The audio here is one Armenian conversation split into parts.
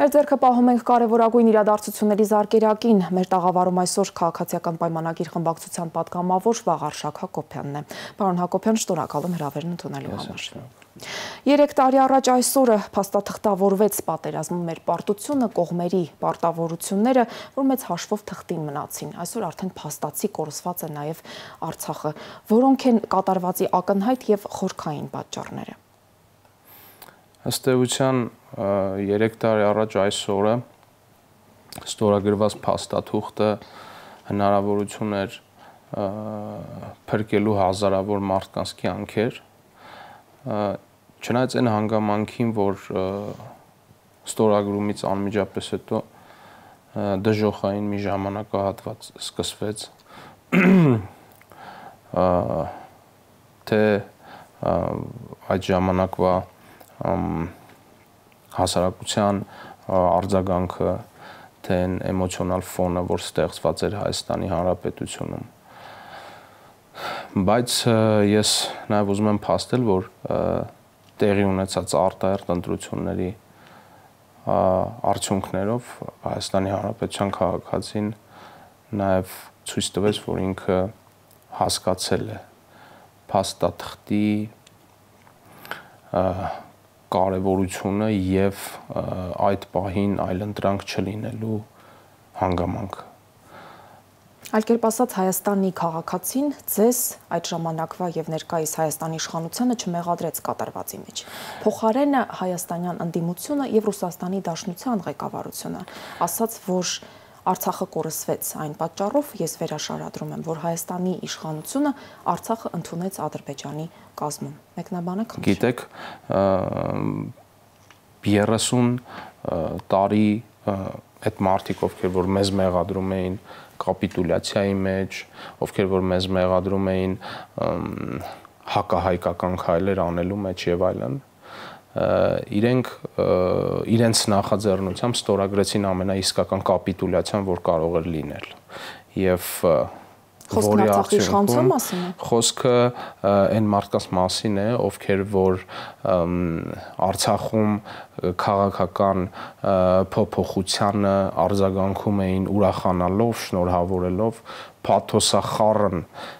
Մեր ձեռքը պահում ենք կարևորագույն իրադարձությունների զարկերակին։ Մեր տաղավարում այսօր քաղաքացիական պայմանագիր խմբակցության պատգամավոր Վաղարշակ Հակոբյանն է։ Պարոն Հակոբյան, շնորհակալ եմ հրավերն ընդունելու համար։ 3 տարի առաջ այսօրը փաստաթղթավորվեց պատերազմում մեր պարտությունը, կողմերի պարտավորությունները, որ մեծ հաշվով թղթին մնացին։ Այսօր արդեն փաստացի կորսված է նաև Արցախը։ Որոնք են կատարվածի ակնհայտ եւ խորքային պատճառները։ Ըստ էության 3 տարի առաջ այսօրը ստորագրված փաստաթուղթը հնարավորություն էր փրկելու հազարավոր մարդկանց կյանքեր, չնայած այն հանգամանքին, որ ստորագրումից անմիջապես հետո դժոխային մի ժամանակահատված սկսվեց, թե այդ ժամանակվա հասարակության արձագանքը, թե այն էմոցիոնալ ֆոնը, որ ստեղծված էր Հայաստանի Հանրապետությունում։ Բայց ես նաև ուզում եմ փաստել, որ տեղի ունեցած արտահերթ ընտրությունների արդյունքներով Հայաստանի Հանրապետության քաղաքացին նաև ցույց տվեց, որ ինքը հասկացել է փաստաթղթի կարևորությունը եւ այդ պահին այլընտրանք չլինելու հանգամանքը։ Այլ կերպ ասած, Հայաստանի քաղաքացին ձեզ այդ ժամանակվա եւ ներկայիս Հայաստանի իշխանությանը չմեղադրեց կատարվածի մեջ։ Փոխարենը հայաստանյան ընդդիմությունը եւ Ռուսաստանի Դաշնության ղեկավարությունը ասաց, որ Արցախը կորսվեց, այն պատճառով ես վերաշարադրում եմ, որ Հայաստանի իշխանությունը Արցախը ընդունեց Ադրբեջանի կազմում։ Մեկնաբանը քննի։ Գիտեք, 30 տարի այդ մարդիկ, ովքեր որ մեզ մեղադրում էին կապիտուլյացիայի մեջ, ովքեր որ մեզ մեղադրում էին հակահայկական քայլեր անելու մեջ եւ այլն, իրենք իրենց նախաձեռնությամբ ստորագրեցին ամենաիսկական կապիտուլյացիան, որ կարող էր լինել։ Եվ Խոսքը Արցախի իշխանության մասին է։ Խոսքը այն մարդկանց մասին է, ովքեր որ Արցախում քաղաքական փոփոխությանը արձագանքում էին ուրախանալով, շնորհավորելով,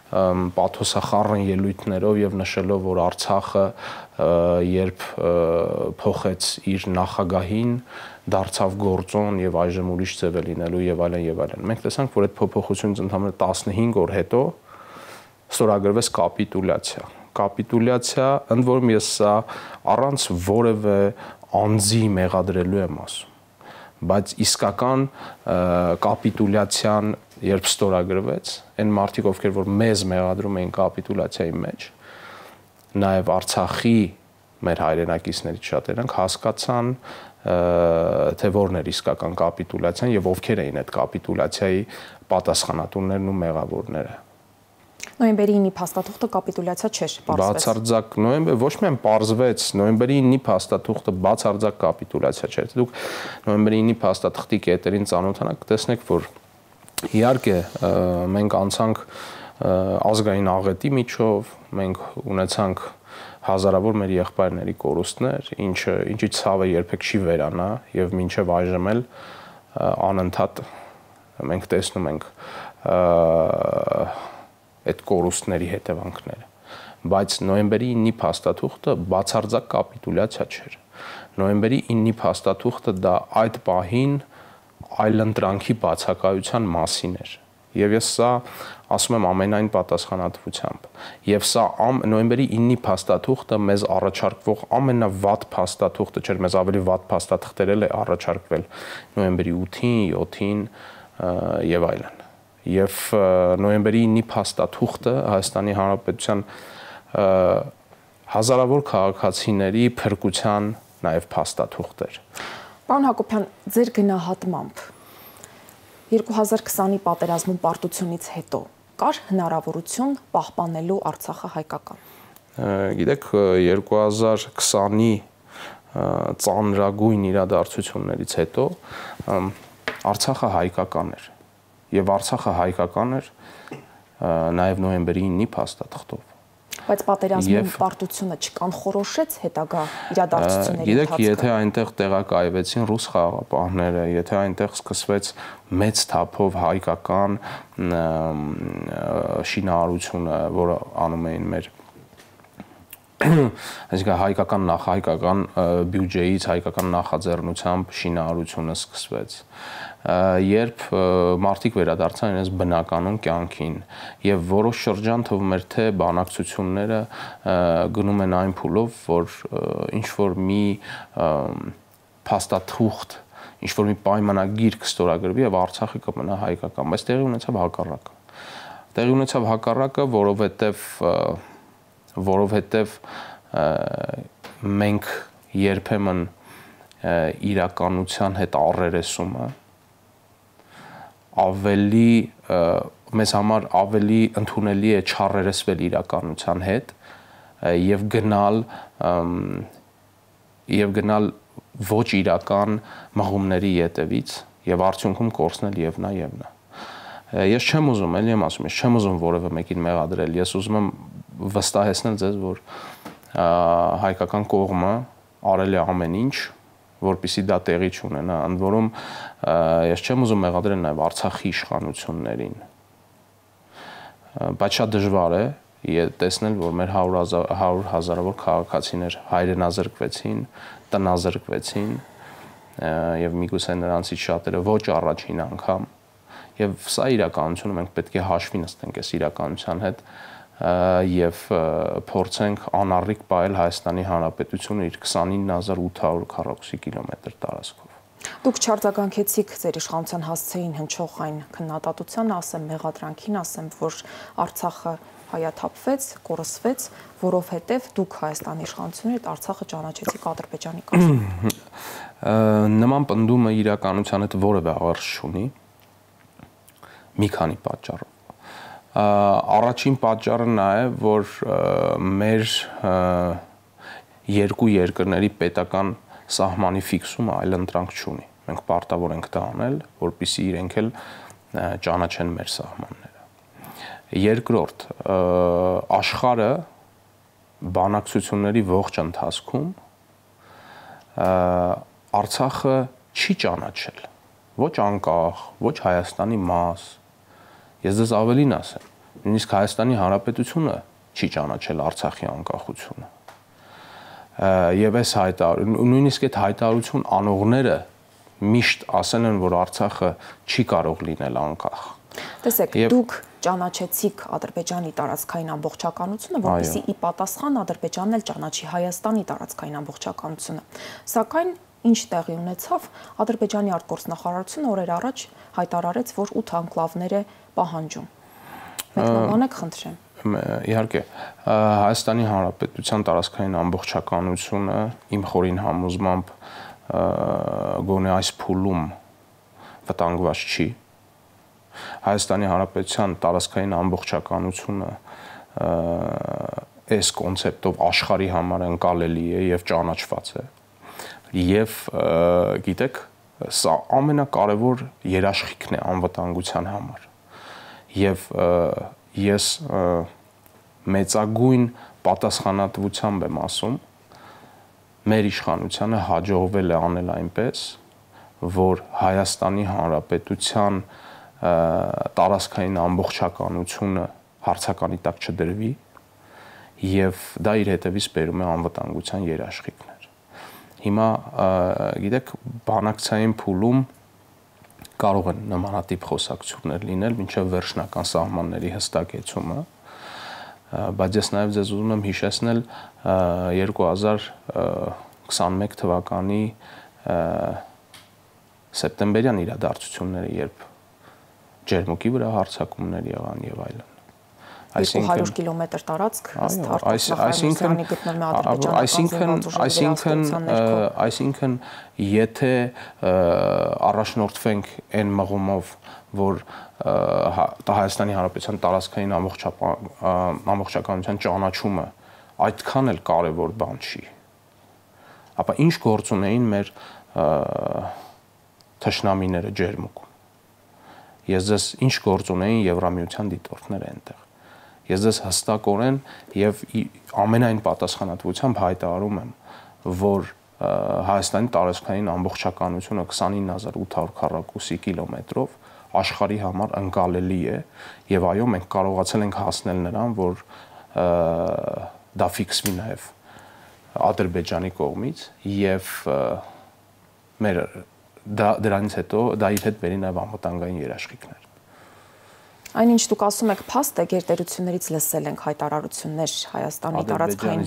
պաթոսախառն ելույթներով եւ նշելով, որ Արցախը երբ փոխեց իր նախագահին, դարձավ գործոն եւ այժմ ուրիշ ձև է լինելու եւ այլն եւ այլն։ Մենք տեսանք, որ այդ փոփոխությունից ընդամենը 15 օր հետո ստորագրվեց կապիտուլյացիա, ընդ որում ես սա առանց որևէ անձի մեղադրելու եմ ասում, բայց իսկական կապիտուլյացիան երբ ստորագրվեց, այն մարդիկ, ովքեր որ մեզ մեղադրում էին կապիտուլյացիայի մեջ, նաեւ Արցախի մեր հայրենակիցներից շատերն հասկացան, թե որն էր իսկական կապիտուլյացիան եւ ովքեր էին այդ կապիտուլյացիայի պատասխանատուներն ու մեղավորները։ Նոյեմբերի 9-ի փաստաթուղթը կապիտուլյացիա չէր, պարզվեց։ Բացարձակ նոյեմբեր ոչ միայն պարզվեց, նոյեմբերի 9-ի փաստաթուղթը բացարձակ կապիտուլյացիա չէր։ Դուք նոյեմբերի 9-ի փաստաթղթի կետերին ծանոթանաք, կտեսնեք, որ իհարկե մենք անցանք ազգային աղետի միջով, մենք ունեցանք հազարավոր մեր եղբայրների կորուստներ, ինչի ցավը երբեք չի վերանա եւ մինչեւ այժմ էլ անընդհատ մենք տեսնում ենք այդ կորուստների հետևանքները, բայց նոյեմբերի 9-ի փաստաթուղթը բացարձակ կապիտուլյացիա չէր։ Նոյեմբերի 9-ի փաստաթուղթը դա այդ պահին այլընտրանքի բացակայության մասին էր։ Եվ ես սա ասում եմ ամենայն պատասխանատվությամբ։ Եվ սա նոյեմբերի 9-ի փաստաթուղթը մեզ առաջարկվող ամենավատ փաստաթուղթը չէր, մեզ ավելի վատ փաստաթղթեր էլ է առաջարկվել նոյեմբերի 8-ին, 7-ին եւ այլն։ Եվ նոյեմբերի 9-ի փաստաթուղթը Հայաստանի Հանրապետության հազարավոր քաղաքացիների փրկության նաեւ փաստաթուղթ էր։ Պարոն Հակոբյան, ձեր գնահատմամբ 2020-ի պատերազմում պարտությունից հետո կար հնարավորություն պահպանելու Արցախը հայկական։ Գիտեք, 2020-ի ծանրագույն իրադարձություններից հետո Արցախը հայկական էր։ Եվ Արցախը հայկական էր նաև նոյեմբերի 9-ի փաստաթղթով։ Բայց պատերազմի պարտությունը չկանխորոշեց հետագա իրադարձությունների ընթացքը։ Գիտեք, եթե այնտեղ տեղակայվեցին ռուս խաղաղապահները, եթե այնտեղ սկսվեց մեծ թափով հայկական շինարարությունը, որը անում էին մեր այսինքն հայկական բյուջեից, հայկական նախաձեռնությամբ շինարարությունը սկսվեց։ Երբ մարդիկ վերադարձան իրենց բնականon կյանքին եւ որոշ շրջան թվում էր թե բանակցությունները գնում են այն փուլով, որ ինչ որ մի փաստաթուղթ, ինչ որ մի պայմանագիր կստորագրվի եւ Արցախը կմնա հայկական, բայց տեղի ունեցավ հակառակը։ Տեղի ունեցավ հակառակը, որովհետև մենք երբեմն իրականության հետ առերեսումը մեզ համար ավելի ընդունելի է չառերեսվել իրականության հետ եւ գնալ ոչ իրական մղումների ետևից եւ արդյունքում կորցնել եւ նա եւ նա։ Ես չեմ ուզում, ելի եմ ասում, ես չեմ ուզում որևէ մեկին մեղադրել, ես ուզում եմ վստահեցնել ձեզ, որ հայկական կողմը արել է ամեն ինչ, որպեսզի դա տեղի չունենա, ընդ որում ես չեմ ուզում մեղադրել նաև Արցախի իշխանություններին, բայց շատ դժվար է տեսնել, որ մեր 100 հազարավոր քաղաքացիներ հայրենազրկվեցին, տնազրկվեցին եւ միգուցե նրանցից շատերը ոչ առաջին անգամ, եւ սա իրականությունը մենք պետք է հաշվի նստենք այս իրականության հետ եւ փորձենք անառիկ պահել Հայաստանի Հանրապետությունը իր 29800 քառակուսի կիլոմետր տարածքով։ Դուք չարձագանքեցիք ձեր իշխանության հասցեին հնչող այն քննադատությանը, ասեմ մեղադրանքին, ասեմ, որ Արցախը հայաթափվեց, կորսվեց, որովհետեւ դուք Հայաստանի իշխանությունը այդ Արցախը ճանաչեցիք Ադրբեջանի կազմում։ Նման պնդումը իրականության հետ որևէ աղերս չունի։ Մի քանի պատճառով։ Առաջին պատճառը նա է, որ մեր երկու երկրների պետական սահմանի ֆիքսումը այլընտրանք չունի։ Մենք պարտավոր ենք դա անել, որպեսզի իրենք էլ ճանաչեն մեր սահմանները։ Երկրորդ, աշխարհը բանակցությունների ողջ ընթացքում Արցախը չի ճանաչել, ոչ անկախ, ոչ Հայաստանի մաս։ Ես դες ավելին ասեմ, նույնիսկ Հայաստանի Հանրապետությունը չի ճանաչել Արցախի անկախությունը։ Եվ այս նույնիսկ այդ հայտարարություն անողները միշտ ասել են, որ Արցախը չի կարող լինել անկախ։ Տեսեք, դուք ճանաչեցիք Ադրբեջանի տարածքային ամբողջականությունը, որպեսզի ի պատասխան Ադրբեջանն էլ ճանաչի Հայաստանի տարածքային ամբողջականությունը։ Սակայն ինչ տեղի ունեցավ, Ադրբեջանի արտգործնախարարությունը օրեր առաջ հայտարարեց, որ 8 անկլավներ է պահանջում։ Մեկնաբանեք, խնդրեմ։ Իհարկե, Հայաստանի Հանրապետության տարածքային ամբողջականությունը իմ խորին համոզմամբ գոնե այս փուլում վտանգված չի։ Հայաստանի Հանրապետության տարածքային ամբողջականությունը այս կոնցեպտով աշխարհի համար ընկալելի է եւ ճանաչված է։ Եվ գիտեք, սա ամենակարևոր երաշխիքն է անվտանգության համար։ Եվ ես մեծագույն պատասխանատվությամբ եմ ասում, մեր իշխանությանը հաջողվել է անել այնպես, որ Հայաստանի Հանրապետության տարածքային ամբողջականությունը հարցականի տակ չդրվի եւ դա իր հետևից բերում է անվտանգության երաշխիքներ։ Հիմա գիտեք, բանակցային փուլում կարող են նմանատիպ խոսակցություններ լինել մինչև վերջնական սահմանների հստակեցումը, բայց ես նաև ձեզ ուզում եմ հիշեցնել 2021 թվականի սեպտեմբերյան իրադարձությունները, երբ ջերմուկի վրա հարձակումներ եղան եւ այլն։ 200 կիլոմետր տարածք արտասահմանցանի գտնվում է ադրբեջանական այսինքն եթե առաջնորդվենք այն մղումով, որ Հայաստանի Հանրապետության տարածքային ամբողջականության ճանաչումը այդքան էլ կարևոր բան չի, ապա ինչ գործ ունեին մեր թշնամիները ջերմուկում։ Ես ձեզ ինչ գործ ունեին Եվրամիության դիտորդները այնտեղ։ Ես ձեզ հստակորեն եւ ամենայն պատասխանատվությամբ հայտարարում եմ, որ Հայաստանի տարածքային ամբողջականությունը 29800 քառակուսի կիլոմետրով աշխարհի համար ընկալելի է եւ այո մենք կարողացել ենք հասնել նրան, որ դա ֆիքսվի նաեւ Ադրբեջանի կողմից եւ մեր դրանից հետո դա իր հետ բերի նաեւ անվտանգային երաշխիքներ։ Այնինչ դուք ասում եք փաստ է գերտերություններից լսել ենք հայտարարություններ Հայաստանի տարածքային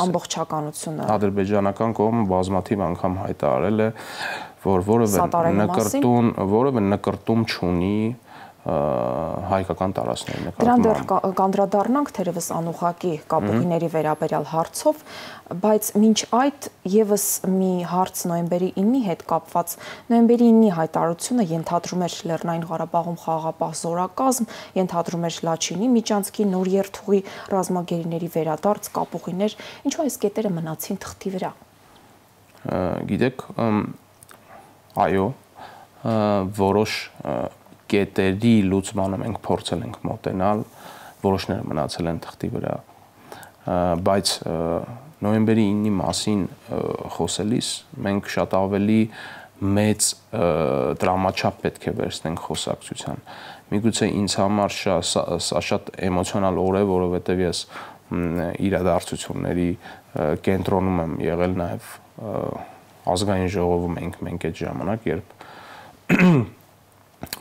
ամբողջականությունը։ Ադրբեջանական կողմը բազմաթիվ անգամ հայտարարել է, որ որևէ նկրտում չունի հայկական տարածքների նկատմամբ։ Դրան դեռ կանդրադառնանք թերևս անուղղակի կապուղիների վերաբերյալ հարցով, բայց մինչ այդ եւս մի հարց նոյեմբերի 9-ի հետ կապված, նոյեմբերի 9-ի հայտարարությունը ենթադրում էր Լեռնային Ղարաբաղում խաղաղապահ զորակազմ, ենթադրում էր Լաչինի միջանցքի նոր երթուղի, ռազմագերիների վերադարձ, կապուղիներ, ինչու այս կետերը մնացին թղթի վրա։ Գիտեք, այո, որոշ կետերի լուծմանը մենք փորձել ենք մոտենալ, որոշները մնացել են թղթի վրա, բայց նոյեմբերի 9-ի մասին խոսելիս մենք շատ ավելի մեծ դրամաչափ պետք է վերցնենք խոսակցության։ Միգուցե ինձ համար սա շատ էմոցիոնալ օր է, որովհետև ես իրադարձությունների կենտրոնում եմ եղել նաև ազգային ժողովում մենք այդ ժամանակ, երբ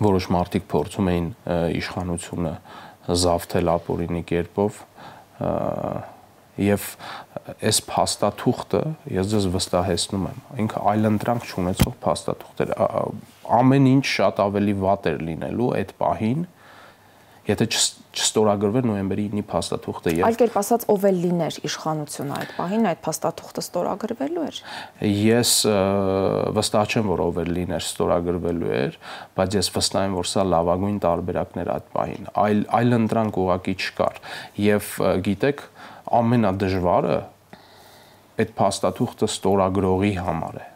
որոշ մարդիկ փորձում էին իշխանությունը զավթել ապօրինի կերպով եւ այս փաստաթուղթը ես ձեզ վստահեցնում եմ, ինքը այլընտրանք չունեցող փաստաթուղթ էր, ամեն ինչ շատ ավելի վատ էր լինելու այդ պահին, եթե չստորագրվեր նոյեմբերի 9-ի փաստաթուղթը եւ այլ կերպ ասած ով էլ լիներ իշխանությունը այդ պահին այդ փաստաթուղթը ստորագրվելու էր։ Ես վստահ չեմ, որ ով էլ լիներ ստորագրվելու էր, բայց ես վստահ եմ, որ սա լավագույն տարբերակն էր այդ պահին։ Այլ ընտրանք ուղղակի չկար եւ գիտեք, ամենադժվարը այդ փաստաթուղթը ստորագրողի համար է,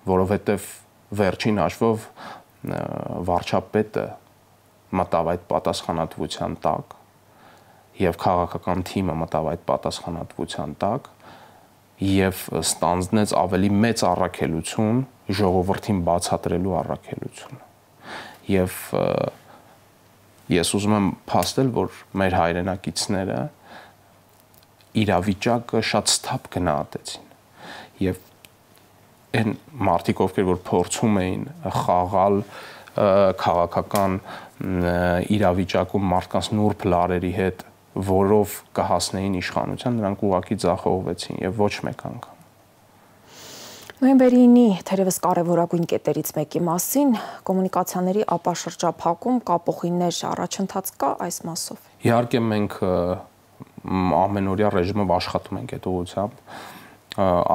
որովհետեւ վերջին հաշվով վարչապետը մտավ այդ պատասխանատվության տակ եւ քաղաքական թիմը մտավ այդ պատասխանատվության տակ եւ ստանձնեց ավելի մեծ առաքելություն ժողովրդին բացատրելու առաքելությունը եւ ես ուզում եմ փաստել, որ մեր հայրենակիցները իրավիճակը շատ սթափ գնահատեցին եւ այն մարդիկ, ովքեր որ փորձում էին խաղալ քաղաքական իրավիճակում մարդկանց նուրբ լարերի հետ, որով կհասնեին իշխանության, նրանք ուղղակի ձախողվեցին եւ ոչ մեկ անգամ։ Նոյեմբերի 9-ի թերևս կարևորագույն կետերից մեկի մասին կոմունիկացիաների ապաշրջափակում, կապուղիներ առաջընթաց կա այս մասով։ Իհարկե մենք ամենօրյա ռեժիմով աշխատում ենք այդ ուղղությամբ,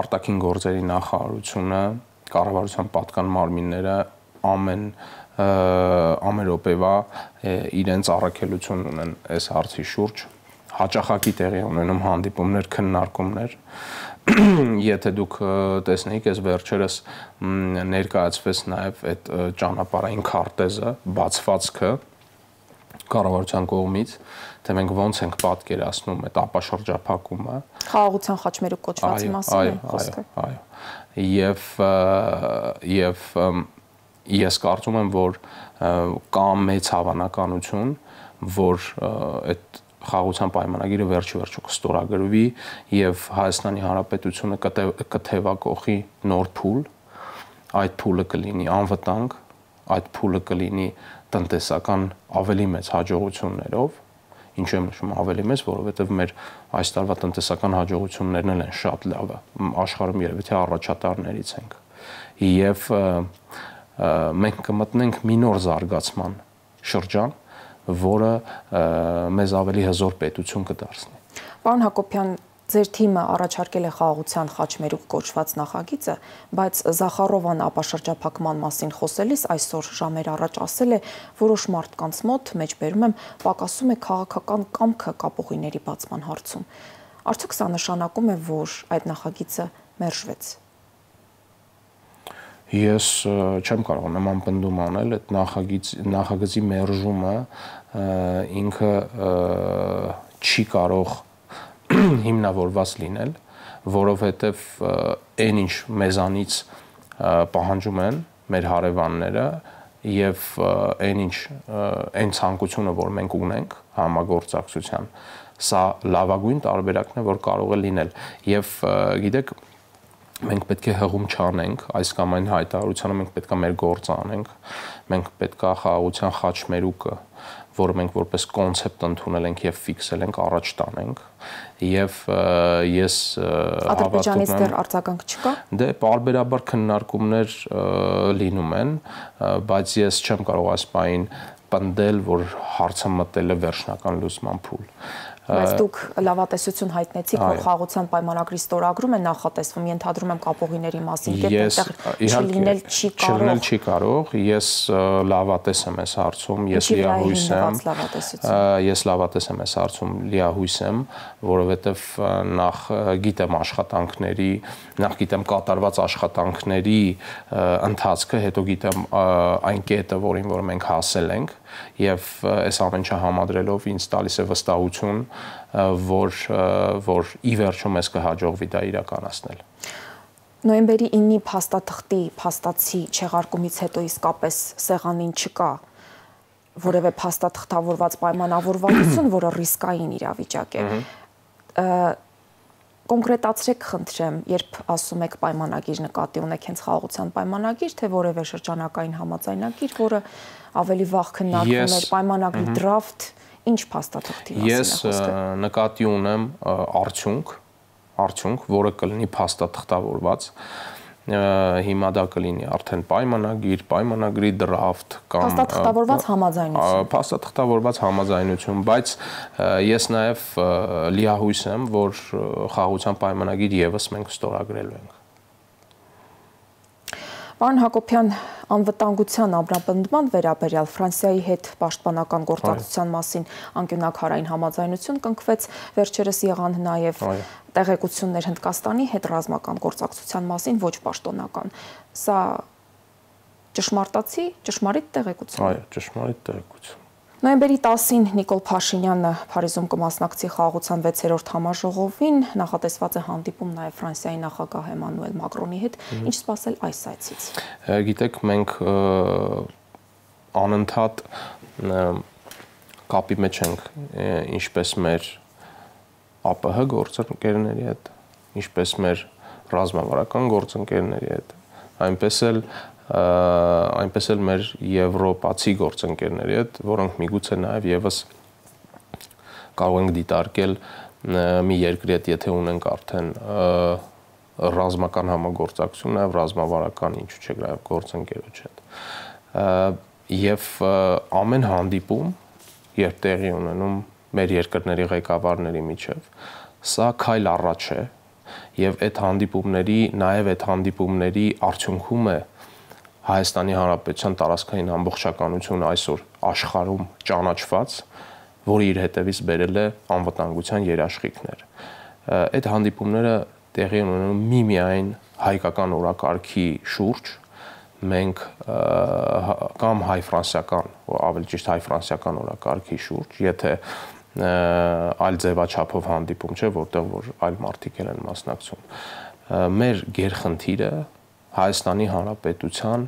արտաքին գործերի նախարարությունը, կառավարության պատկան մարմինները ամեն րոպեվա իրենց առաքելություն ունեն այս հարցի շուրջ, հաճախակի տեղի ունենում հանդիպումներ, քննարկումներ, եթե դուք տեսնեիք, այս վերջերս ներկայացվեց նաև այդ ճանապարհային քարտեզը, բացվածքը կառավարության կողմից, թե մենք ոնց ենք պատկերացնում այդ ապաշրջափակումը, խաղաղության խաչմերուկ կոչվածի մասին է խոսքը։ Եվ ես կարծում եմ, որ կա մեծ հավանականություն, որ այդ խաղաղության պայմանագիրը վերջիվերջո կստորագրվի եւ Հայաստանի Հանրապետությունը կթևակողի նոր փուլ, այդ փուլը կլինի անվտանգ, այդ փուլը կլինի տնտեսական ավելի մեծ հաջողություններով, ինչու եմ նշում ավելի մեծ, որովհետեւ մեր այս տարվա տնտեսական հաջողություններն են շատ լավը, աշխարհում երևի թե առաջատարներից ենք եւ մենք կմտնենք մի նոր զարգացման շրջան, որը մեզ ավելի հզոր պետություն կդարձնի։ Պարոն Հակոբյան, ձեր թիմը առաջարկել է խաղաղության խաչմերուկ կոչված նախագիծը, բայց Զախարովան ապաշրջափակման մասին խոսելիս այսօր ժամեր առաջ ասել է, որոշ մարդկանց մոտ, մեջբերում եմ, պակասում է քաղաքական կամքը կապուղիների բացման հարցում։ Արդյոք սա նշանակում է, որ այդ նախագիծը մերժվեց։ Ես չեմ կարող նման պնդում անել, այդ նախագծի մերժումը ինքը չի կարող հիմնավորված լինել, որովհետև այն ինչ մեզանից պահանջում են մեր հարևանները եւ այն ցանկությունը, որ մենք ունենք համագործակցության, սա լավագույն տարբերակն է, որ կարող է լինել եւ գիտեք մենք պետք է հղում չանենք այս կամ այն հայտարարությանը, մենք պետք է մեր գործը անենք, մենք պետք է խաղաղության խաչմերուկը, որը մենք որպես կոնցեպտ ընդունել ենք եւ ֆիքսել ենք, առաջ տանենք եւ ես Ադրբեջանից դեռ արձագանք չկա։ Դե պարբերաբար քննարկումներ լինում են, բայց ես չեմ կարող այս բանին պնդել, որ հարցը մտել է վերջնական լուծման փուլ։ Բայց դուք լավատեսություն հայտնեցիք, որ խաղաղության պայմանագրի ստորագրումը նախատեսվում, ենթադրում եմ կապողիների մասին, չլինել չի կարող, ես լավատես եմ այս հարցում, ես լավատես եմ այս հարցում, լիահույս եմ, որովհետև նախ գիտեմ աշխատանքների, նախ գիտեմ կատարված աշխատանքների ընթացքը, հետո գիտեմ այն կետը, որին որ մենք հասել ենք, եւ այս ամեն ինչը համադրելով ինձ տալիս է վստահություն, որ ի վերջո մեզ կհաջողվի դա իրականացնել։ Նոյեմբերի 9-ի փաստաթղթի փաստացի չեղարկումից հետո իսկապես սեղանին չկա որևէ փաստաթղթավորված պայմանավորվածություն, որը ռիսկային իրավիճակ է։ Կոնկրետացրեք, խնդրեմ, երբ ասում եք պայմանագիր, նկատի ունեք հենց խաղաղության պայմանագիր, թե որևէ շրջանակային համաձայնագիր, որը ավելի վաղ քննարկվում էր, պայմանագրի դրաֆտ, ինչ փաստաթղթի մասին է խոսքը։ Ես նկատի ունեմ արդյունք, որը կլինի փաստաթղթավորված, հիմա դա կլինի արդեն պայմանագիր, պայմանագրի դրաֆտ կամ փաստաթղթավորված համաձայնություն, բայց ես նաև լիահույս եմ, որ խաղաղության պայմանագիր եւս մենք ստորագրելու ենք։ Պարոն Հակոբյան, անվտանգության ամրապնդման վերաբերյալ Ֆրանսիայի հետ պաշտպանական գործակցության մասին անկյունաքարային համաձայնություն կնքվեց, վերջերս եղան նաև տեղեկություններ Հնդկաստանի հետ ռազմական գործակցության մասին, ոչ պաշտոնական։ Սա ճշմարիտ տեղեկություն։ Այո, ճշմարիտ տեղեկություն։ Նոյեմբերի 10-ին Նիկոլ Փաշինյանը Փարիզում կմասնակցի խաղաղության 6-րդ համաժողովին, նախատեսված է հանդիպում նաև Ֆրանսիայի նախագահ Էմանուել Մակրոնի հետ, ինչ սպասել այս այցից։ Գիտեք, մենք անընդհատ կապի մեջ ենք ինչպես մեր ԱՊՀ գործընկերների հետ, ինչպես մեր ռազմավարական գործընկերների հետ, այնպես էլ մեր եվրոպացի գործընկերների հետ, որոնք միգուցե նաև եւս կարող ենք դիտարկել մի երկրի հետ, եթե ունենք արդեն ռազմական համագործակցություն, նաև ռազմավարական ինչու՞ չէ նաև գործընկերոջ հետ։ Եվ ամեն հանդիպում, երբ տեղի ունենում մեր երկրների ղեկավարների միջև, սա քայլ առաջ է, եւ այդ հանդիպումների արդյունքում է Հայաստանի Հանրապետության տարածքային ամբողջականությունը այսօր աշխարհում ճանաչված, որը իր հետևից բերել է անվտանգության երաշխիքներ։ Այդ հանդիպումները տեղի ունենում միմիայն հայկական օրակարգի շուրջ, մենք կամ հայ-ֆրանսիական, ավելի ճիշտ հայ-ֆրանսիական օրակարգի շուրջ, եթե այլ ձևաչափով հանդիպում չէ, որտեղ որ այլ մարդիկ են մասնակցում։ Մեր գերխնդիրը Հայաստանի Հանրապետության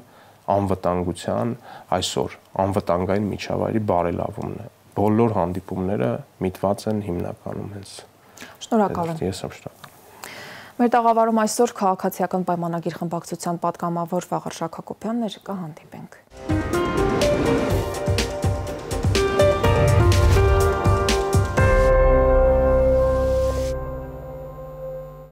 անվտանգության այսօր անվտանգային միջավայրի բարելավումն է։ Բոլոր հանդիպումները միտված են հիմնականում հենց։ Շնորհակալ եմ։ Ես եմ շնորհակալ։ Մեր տաղավարում այսօր քաղաքացիական պայմանագիր խմբակցության պատգամավոր Վաղարշակ Հակոբյանն էր, կհանդիպենք։